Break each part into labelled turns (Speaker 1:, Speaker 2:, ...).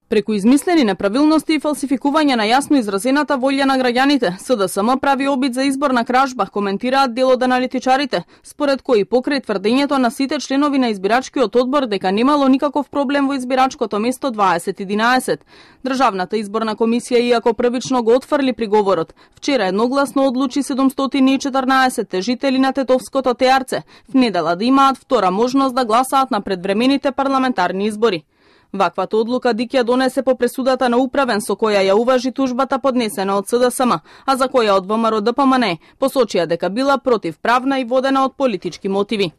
Speaker 1: Преку измислени неправилности и фалсификување на јасно изразената волја на граѓаните, СДСМ прави обид за изборна кражба, коментираат дел од аналитичарите, според кои покрај тврдењето на сите членови на избирачкиот одбор дека немало никаков проблем во избирачкото место 2011. Државната изборна комисија, иако првично го отфрли приговорот, вчера едногласно одлучи 714 жители на Тетовското Теарце в недела да имаат втора можност да гласаат на предвремените парламентарни избори. Ваквата одлука ДИК ја донесе по пресудата на управен со која ја уважи тужбата поднесена од СДСМ, а за која од ВМРО ДПМН посочија дека била противправна и водена од политички мотиви.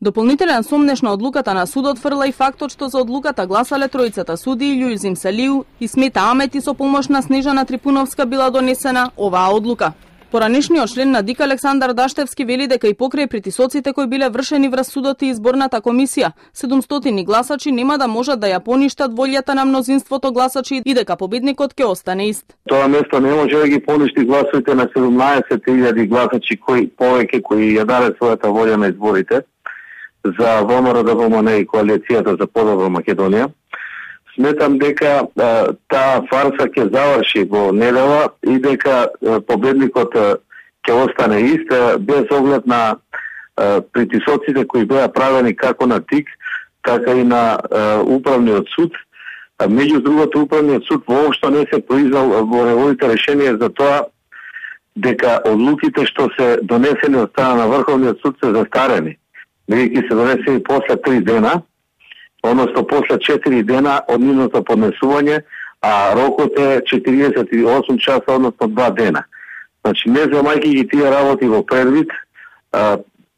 Speaker 1: Дополнителен сомнеш на одлуката на судот фрла и фактот што за одлуката гласале тројцата судии Љулзим Салиу и Смета Амети со помош на Снежана Трипуновска била донесена оваа одлука. Поранешниот член на ДИК Александар Даштевски вели дека и покрај притисоците кои биле вршени врз судот и изборната комисија, 700 гласачи нема да можат да ја поништат волјата на мнозинството гласачи и дека победникот ќе остане ист.
Speaker 2: Тоа место не може да ги поништи гласовите на 17.000 гласачи кои ја даде својата волја на изборите за ВМРО ДПМН и коалицијата за подобра Македонија. Сметам дека таа фарса ќе заврши во недела и дека победникот ќе остане ист, без оглед на притисоците кои беа правени како на ТИК, така и на управниот суд. Меѓу другото, управниот суд воопшто не се произвел во неговите решенија за тоа дека одлуките што се донесени од страна на Врховниот суд се застарени, бидејќи се донесени после 3 дена, односно после 4 дена од нивното поднесување, а рокот е 48 часа, односно 2 дена. Значи, не земајќи ги тие работи во предвид,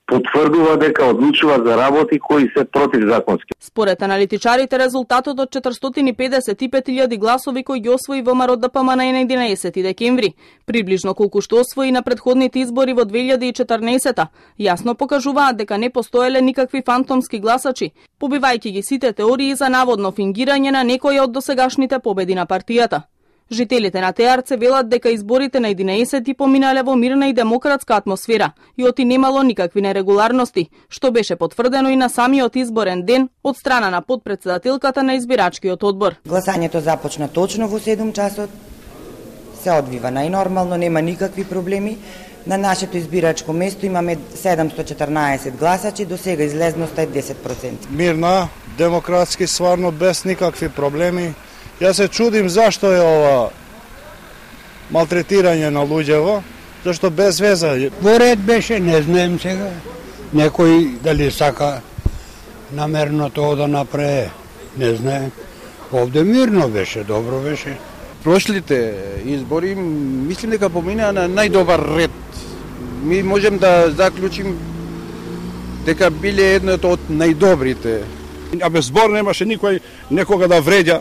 Speaker 2: потврдува дека одлучува за работи кои се противзаконски.
Speaker 1: Според аналитичарите, резултатот од 455.000 гласови кои ги освои ВМРО ДПМН на 11 декември, приближно колку што освои на претходните избори во 2014, јасно покажуваат дека не постоеле никакви фантомски гласачи, побивајќи ги сите теории за наводно фингирање на некоја од досегашните победи на партијата. Жителите на Теарце велат дека изборите на 11 поминале во мирна и демократска атмосфера и оти немало никакви нерегуларности, што беше потврдено и на самиот изборен ден од страна на подпредседателката на избирачкиот одбор.
Speaker 3: Гласањето започна точно во 7 часот, се одвива најнормално, нема никакви проблеми. На нашето избирачко место имаме 714 гласачи, до сега излезноста е 10%.
Speaker 4: Мирна, демократски, стварно без никакви проблеми. Јас се чудим зашто е ова малтретирање на луѓево, зашто без веза.
Speaker 5: Во ред беше, не знаем сега. Некој дали сака намерно тоа да направи, не знаем. Овде мирно беше, добро беше.
Speaker 6: Прошлите избори, мислим дека поминаа на најдобар ред. Ми можем да заклучим дека биле едното од најдобрите.
Speaker 4: А без збор немаше никој некога да вреѓа.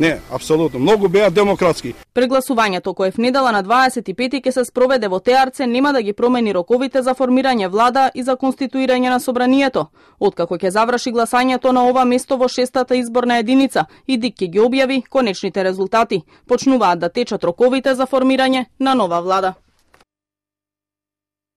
Speaker 4: Не, апсолутно. Многу беа демократски.
Speaker 1: Прегласувањето кое в недела на 25 ќе се спроведе во Теарце нема да ги промени роковите за формирање влада и за конституирање на собранието. Откако ќе заврши гласањето на ова место во 6-та изборна единица и ДИК ќе ги објави конечните резултати, почнуваат да течат роковите за формирање на нова влада.